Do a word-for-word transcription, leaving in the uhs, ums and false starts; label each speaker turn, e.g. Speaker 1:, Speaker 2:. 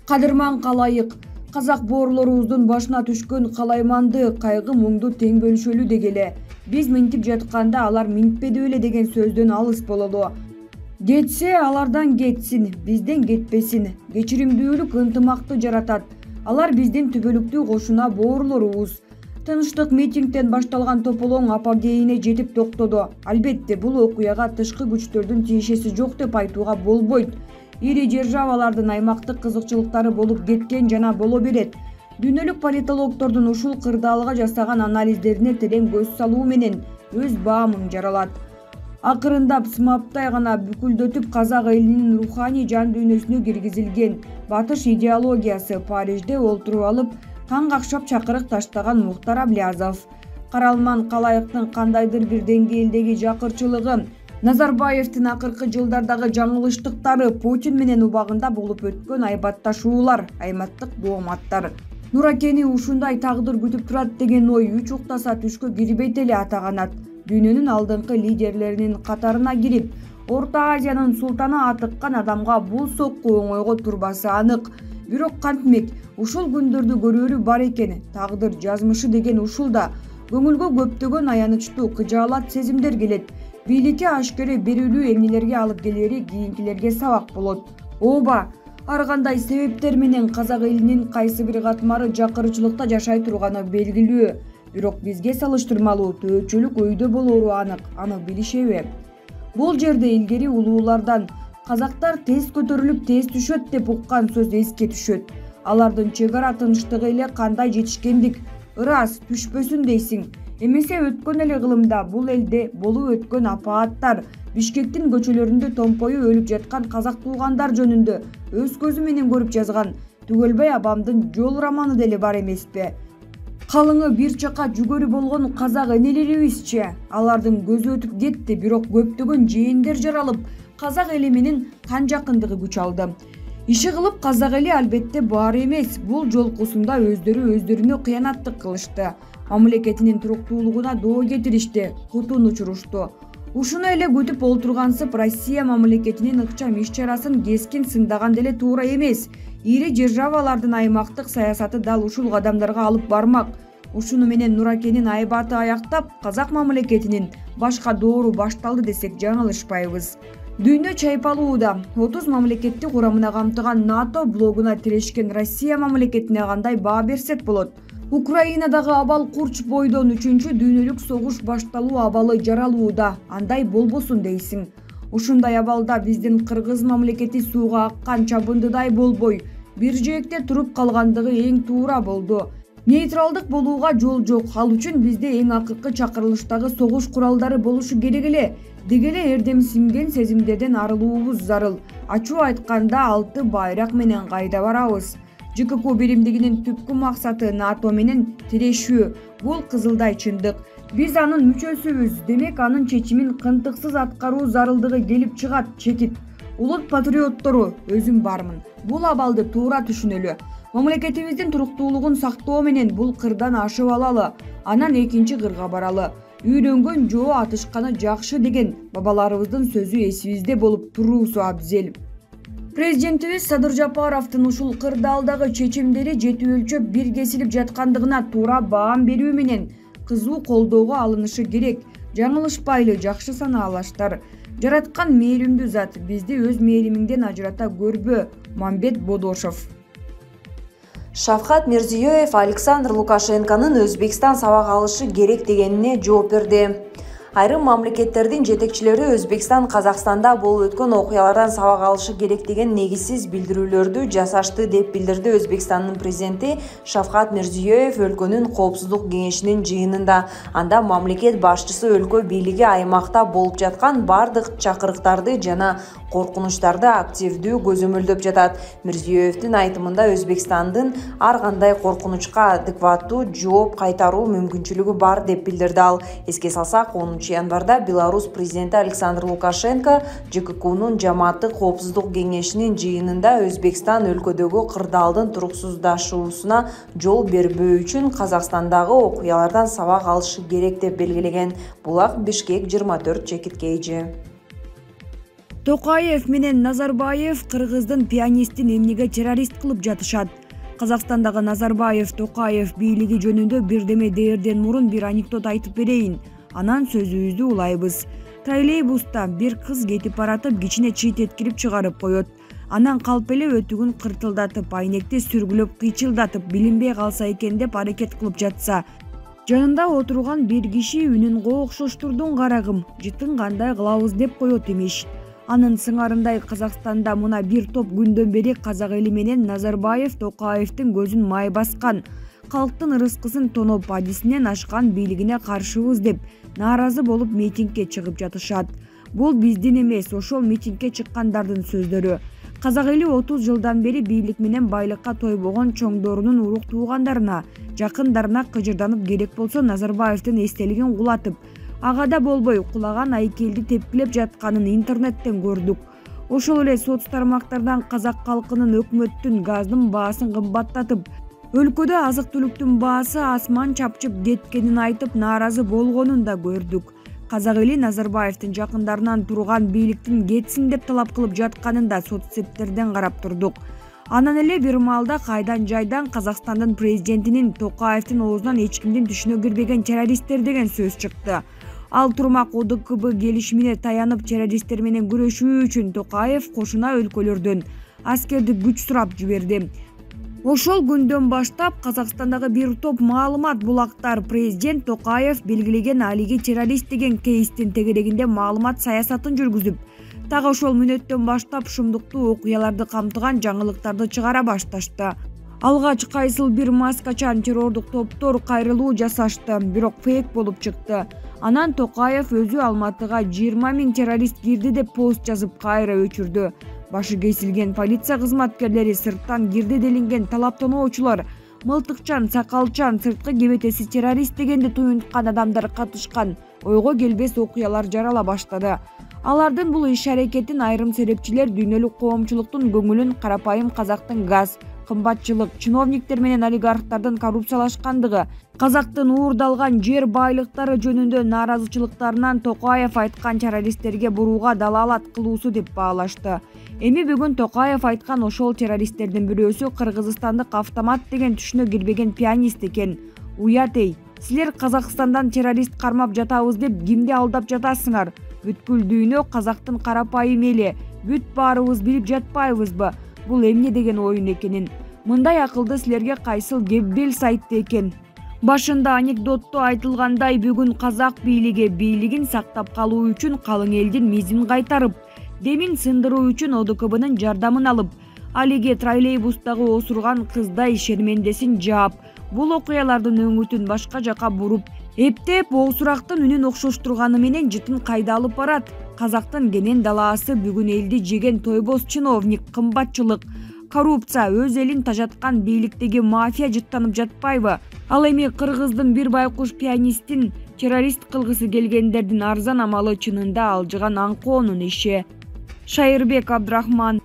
Speaker 1: Кадырман калайык. Казак боорлорубуздун башына түшкөн калайманды, кайгы муңду тең бөлүшөлү дегеле. Биз минтип жатканда алар минтпеди беле деген сөздөн алыс бололу. Кетсе алардан кетсин, бизден кетпесин. Кечиримдүүлүк ынтымакты жаратат. Алар биздин түбөлүктүү кошуна боорлорубуз. Тынчтык митингден башталган тополоң апогейине жетип токтоду. Албетте, бул окуяга тышкы күчтөрдүн тиешеси жок деп айтууга болбойт. Ири державалардын аймактык кызыкчылыктары болуп кеткен жана боло берет. Дүйнөлүк политологдордун ушул кырдаалга жасаган анализдерине терең көз салуу менен өз баамың жаралат. Акырындап сымаптай гана бүкүлдөтүп казак элинин руханий жан дүйнөсүнө киргизилген батыш идеологиясы Парижде олтуруп алып таң какшап чакырык таштаган Мухтар Аблязов. Каралман калайыктын кандайдыр бир деңгээлдеги жакырчылыгы, Назарбаевдин акыркы жылдардагы жаңылыштыктары, Путин менен убагында болуп өткөн айбатташуулар, айматтык дооматтар. Нуракени ушундай тагдыр күтүп турат деген ой үч уктаса түшкө кирбейт эле атаганат. Дүйнөнүн алдыңкы лидерлеринин катарына кирип, Орто Азиянын султаны атыккан адамга бул сокку оңойго турбасы анык. Бирок кантмек, ушул күндөрдү көрөрү бар экен. Тагдыр жазмышы деген ушул да. Көңүлгө көптөгөн аянычтуу, кыжаалат сезимдер келет. Бийликке ашкере берүүлүү эмнелерге алып келери кийинкилерге сабак болот. Ооба, ар кандай себептер менен казак элинин кайсы бир катмары жакырчылыкта жашай турганы белгилүү. Бирок бизге салыштырмалуу төөчөлүк өйдө болоору анык, аны билишеби? Бул жерде илгери улуулардан казактар тез көтөрүлүп тез түшөт деп уккан сөз эске түшөт. Алардын чек ара тынчтыгы эле кандай жетишкендик, ырас түшпөсүн дейсиң. Эмесе өткөн эле кылымда бул элде болуп өткөн апааттар, Бишкектин көчөлөрүндө томпою өлүп жаткан казак туугандар жөнүндө өз көзү менен көрүп жазган Түгөлбай Абамдын Жол романы деле бар эмеспи? Калыңы бир чака жүгөрү болгон казак энелерибизчи, алардын көзү өтүп кетти, бирок көптөгөн жээндер жаралып, казак эли менен кан жакындыгы күч алды. Иши кылып казак эли албетте баары эмес, бул жолкусунда өздөрү өздөрүнө кыянаттык кылышты. Мамлекетинин туруктуулугуна доо кетиришти, кутун учурушту. Ушуну эле күтүп олтургансып, Россия мамлекетинин ыкчам иш-чарасын кескин сындаган деле туура эмес. Ири державалардын аймактык саясаты дал ушул кадамдарга алып бармак. Ушуну менен Нуракенин айбаты аяктап, казак мамлекетинин башка доору башталды десек жаңылышпайбыз. Дүйнө чайпалууда. отуз мамлекетти курамына камтыган НАТО блогуна тирешкен Россия мамлекетине кандай баа берсек болот? Украинадагы абал курч бойдон үчүнчү дүйнөлүк согуш башталуу абалы жаралууда. Андай болбосун дейсиң. Ушундай абалда биздин кыргыз мамлекети сууга аккан чабындыдай болбой, бир жээкте туруп калгандыгы эң туура болду. Нейтралдык болууга жол жок. Ал үчүн бизде эң акыркы чакырылыштагы согуш куралдары болушу керек эле. Дегеле эрдемсинген сезимдерден арылуубуз зарыл. Ачуу айтканда алты байрак менен кайда барабыз? ЖКК биримдигинин түпкү максаты НАТО менен тирешүү. Бул кызылдай чындык. Биз анын мүчөсүбүз, демек анын чечимин кынтыксыз аткаруу зарылдыгы келип чыгат, чекит. Улут патриоттору, өзүм бармын. Бул абалды туура түшүнөлү. Мамлекетибиздин туруктуулугун сактоо менен бул кырдан ашып алалы, анан экинчи кырга баралы. Үйрөнгөн жоо атышканы жакшы деген бабаларыбыздын сөзү эсибизде болуп туруусу абзел. Президентибиз Садыр Жапаровдун ушул кырдаалдагы чечимдери жети өлчөп бир кесилип жаткандыгына туура баам берүү менен кызуу колдоого алынышы керек. Жаңылышпайлы, жакшы санаалаштар. Жараткан мээримдүү зат, бизди өз мээримиңден ажырата көрбө. Мамбет Бодошов.
Speaker 2: Шавкат Мирзиёев Александр Лукашенконун Өзбекстан сабак алышы керек дегенине жооп берди. Айрым мамлекеттердин жетекчилери Өзбекстан Казакстанда болуп өткөн окуялардан сабак алышы керек деген негизсиз билдирүүлөрдү жасашты деп билдирди Өзбекстандын президенти Шавкат Мирзиёев өлкөнүн коопсуздук кеңешинин жыйынында. Анда мамлекет башчысы өлкө бийлиги аймакта болуп жаткан бардык чакырыктарды жана коркунучтарды активдүү көзөмөлдөп жатат. Мирзиёевдин айтымында Өзбекстандын ар кандай коркунучка адекваттуу жооп кайтаруу мүмкүнчүлүгү бар деп билдирди ал. Эске салсак, онунчу январда Беларусь президенти Александр Лукашенко ЖККнун жамааттык коопсуздук кеңешинин жыйынында Өзбекстан өлкөдөгү кырдаалдын туруксуздашуусуна жол бербөө үчүн Казакстандагы окуялардан сабак алышы керек деп белгилеген. Булак Бишкек жыйырма төрт чекиткейжи.
Speaker 1: Токаев менен Назарбаев кыргыздын пианистин эмнеге террорист кылып жатышат? Казакстандагы Назарбаев Токаев бийлиги жөнүндө бирдеме дээрден мурун бир анекдот айтып берейин. Анан сөзүбүздү улайбыз. Троллейбуста бир кыз кетип баратып кичине чыйт эткирип чыгарып коет. Анан калп эле өтүгүн кыртылдатып, айнекти сүргүлөп кыйчылдатып, билинбей калса экен деп аракет кылып жатса, жанында отурган бир киши үнүн коокшоштурдуң карагым, жытын кандай кылабыз деп коет имиш. Анын сыңарындай Казакстанда мына бир топ күндөн бери казак эли менен Назарбаев Токаевдин көзүн май баскан, калктын ырыскысын тоноп адисинен ашкан бийлигине каршыбыз деп нааразы болуп митингге чыгып жатышат. Бул биздин эмес, ошол митингге чыккандардын сөздөрү. Казак эли отуз жылдан бери бийлик менен байлыкка тойбогон чоңдорунун урук туугандарына, жакындарына кыжырданып, керек болсо Назарбаевдин эстелигин кулатып, ага да болбой кулаган айкелди тепкилеп жатканын интернеттен көрдүк. Ошол эле соц тармактардан казак калкынын өкмөттүн газдын баасын кымбаттатып, өлкөдө азык-түлүктүн баасы асман чапчып кеткенин айтып нааразы болгонун да көрдүк. Казак эли Назарбаевдин жакындарынан турган бийликтин кетсин деп талап кылып жатканын да соцсеттерден карап турдук. Анан эле бир маалда кайдан жайдан Казакстандын президентинин Токаевдин оозунан эч кимдин түшүнө кирбеген террористтер деген сөз чыкты. Ал турмак О Д К Б келишимине таянып террористтер менен күрөшүү үчүн Токаев кошуна өлкөлөрдөн аскердик күч сурап жиберди. Ошол күндөн баштап Казакстандагы бир топ маалымат булактар президент Токаев белгилеген алиги террорист деген кейстин тегерегинде маалымат саясатын жүргүзүп, так ошол мүнөттөн баштап шумдуктуу окуяларды камтыган жаңылыктарды чыгара башташты. Алгач кайсыл бир маскачан террордук топтор кайрылуу жасашты, бирок фейк болуп чыкты. Анан Токаев өзү Алматыга жыйырма миң террорист кирди деп пост жазып кайра өчүрдү. Башы кесилген полиция кызматкерлери, сырттан кирди делинген талаптоочулар, мылтыкчан, сакалчан, сырткы кебетеси террорист дегенди туюнткан адамдар катышкан ойго келбес окуялар жарала баштады. Алардын бул иш-аракетин айрым серепчилер дүйнөлүк коомчулуктун көңүлүн карапайым казактын газ, кымбатчылык, чиновниктер менен олигархтардын коррупциялашкандыгы, казактын уурдалган жер байлыктары жөнүндө нааразычылыктарынан Токаев айткан террористтерге бурууга далаалат кылуусу деп баалашты. Эми бүгүн Токаев айткан ошол террористтердин бирөөсү кыргызстандык автомат деген түшүнө кирбеген пианист экен. Уят эй, силер Казакстандан террорист кармап жатабыз деп кимди алдап жатасыңар? Бүткүл дүйнө казактын карапайым эли, бүт баарыбыз билип жатпайбызбы? Бул эмне деген оюн экенин? Мындай акылды силерге кайсыл Геббельс айтты экен? Башында анекдотто айтылгандай, бүгүн казак бийлиги бийлигин сактап калуу үчүн калың элдин мизин кайтарып, демин сындыруу үчүн О Д К Б'нын жардамын алып, алиге троллейбустагы осурган кыздай шермендесин жаап, бул окуялардын өңүтүн башка жака буруп, эптеп оосурактын үнүн окшоштурганы менен жытын кайда алып барат? Казактын кенен далаасы бүгүн элди жеген тойбоз чиновник, кымбатчылык, коррупция, өз элин тажаткан бийликтеги мафия жыттанып жатпайбы? Ал эми кыргыздын бир байкуш пианистин террорист кылгысы келгендердин арзан амалы чынында алжыган аңкоонун иши. Шайырбек Абдрахман.